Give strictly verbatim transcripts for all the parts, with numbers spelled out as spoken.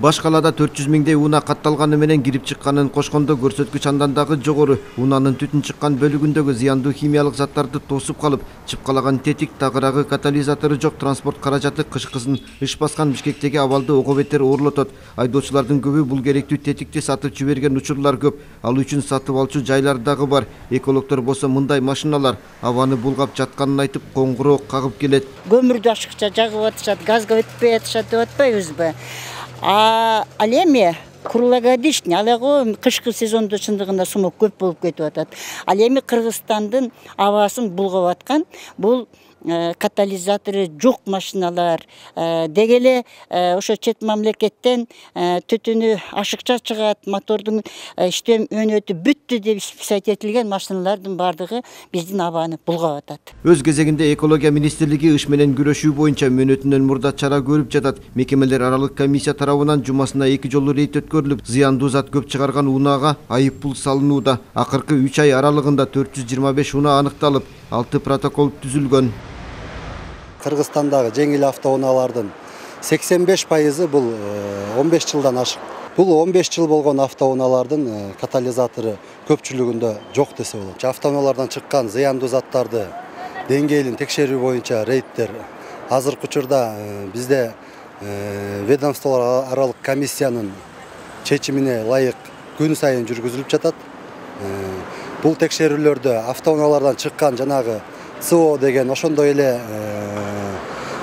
Баш калаада төрт жүз миңдей унаа катталганы менен кирип чыкканын кошкондо көрсөткүч андан дагы жогору. Унаанын түтүн чыккан бөлүгүндөгү зыяндуу химиялык заттарды тосуп калып, чыпкалаган тетик, тагыраагы, катализатору жок транспорт каражаты кышкысын иш баскан Бишкектеги абалды ого бетер оорлотот. Айдоочулардын көбү бул керектүү тетикти сатып жиберген учурлар көп. Ал үчүн сатып алчу жайлар дагы бар. Экологдор болсо мындай машиналар абаны булгап жатканын айтып, коңгуроо кагып келет. Көмүрдү ашыкча жагып атышат, газга өтпөй атышат деп атпайбызбы? А ал эми круглогодичный, ал эми кышкы сезондо чындыгында сумок көп болуп кетип атат. Ал эми Кыргызстандын абасын булгап аткан бул катализатору жок машиналар, деги эле ошо чет мамлекеттен түтүнү ашыкча чыгат, мотордун иштөө өнөтү бүттү деп сайт этилген машиналардын бардыгы биздин абаны булгап атат. Өз кезегинде экология министрлиги иш менен күрөшүү боюнча мөөнөтүнөн мурда чара көрүп жатат. Мекемелер аралык комиссия тарабынан жумасына эки жолу рейд өткөрүлүп, зыяндуу зат көп чыгарган унаага айып пул салынууда. Акыркы үч ай аралыгында төрт жүз жыйырма беш унаа аныкталып, алты протокол түзүлгөн. Кыргызстандагы жеңил автоунаалардын сексен беш пайызы бул он беш жылдан ашык. Бул он беш жыл болгон автоунаалардын катализатору көпчүлүгүндө жок десе болот. Автоунаалардан чыккан зыяндуу заттарды деңгээлин текшерүү боюнча рейдтер азыркы учурда бизде ведомстволор аралык комиссиянын чечимине ылайык күн сайын жүргүзүлүп жатат. Бул текшерүүлөрдө автоунаалардан чыккан жанагы СО деген ошондой эле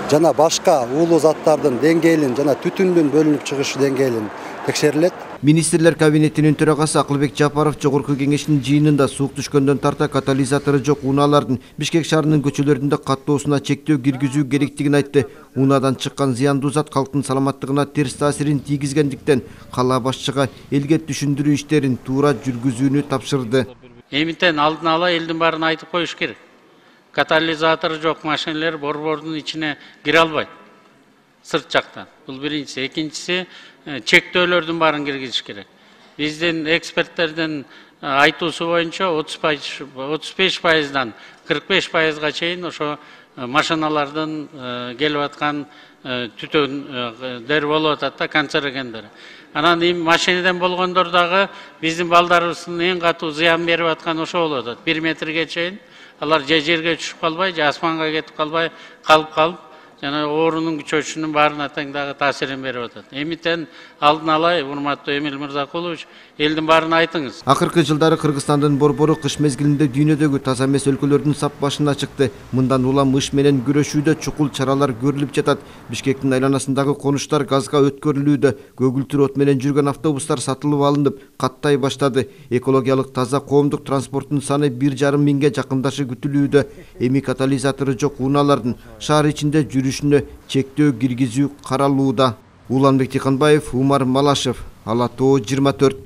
жана башка уулуу заттардын деңгээлин жана түтүндүн бөлүнүп чыгышы деңгээлин текшерилет. Министрлер кабинетинин төрагасы Акылбек Жапаров жогорку кеңештин жыйынында суук түшкөндөн тарта катализатору жок унаалардын Бишкек шаарынын көчөлөрүндө каттоосуна чектөө киргизүү керектигин айтты. Унаадан чыккан зыяндуу зат калктын саламаттыгына терс таасирин тийгизгендиктен кала башчыга элге түшүндүрүү иштерин туура жүргүзүүнү тапшырды. Эмитен алдын ала элдин баарын айтып коюш керек. Катализатору жок машиналар борбордун ичине кире албайт. Сырт жактан. Бул биринчиси. Экинчиси, чектөөлөрдүн баарын киргизиш керек. Биздин эксперттердин айтуусу боюнча отуз беш пайыздан кырк беш пайызга чейин ошо машиналардын келип аткан түтүндөр болуп атат да, канцерогендер. Анан эми машинеден болгондор дагы биздин балдарыбыздын эң катуу зыян берип аткан ошо болуп атат. бир метрге чейин алар же жерге түшүп калбай, же асманга кетип калбай калып калып, жана оорунун күчөшүнүн баарына тең дагы таасирин берип атат. Эмитен алдын ала, урматтуу Эмил Мырзакулович, элдин баарын айтыңыз. Акыркы жылдары Кыргызстандын борбору кыш мезгилинде дүйнөдөгү таза эмес өлкөлөрдүн сап башына чыкты. Мындан улам иш менен күрөшүүдө чукул чаралар көрүлүп жатат. Бишкектин айланасындагы конуштар газга өткөрүлүүдө. Көгүлтүр от менен жүргөн автобустар сатылып алынып, каттай баштады. Экологиялык таза коомдук транспорттун саны бир жарым миңге жакындашы күтүлүүдө. Эми катализатору жок унаалардын шаар ичинде жүрүшүнө чектөө киргизүү каралууда. Уланбек Тиканбаев, Умар Малашев, Ала Тоо жыйырма төрт.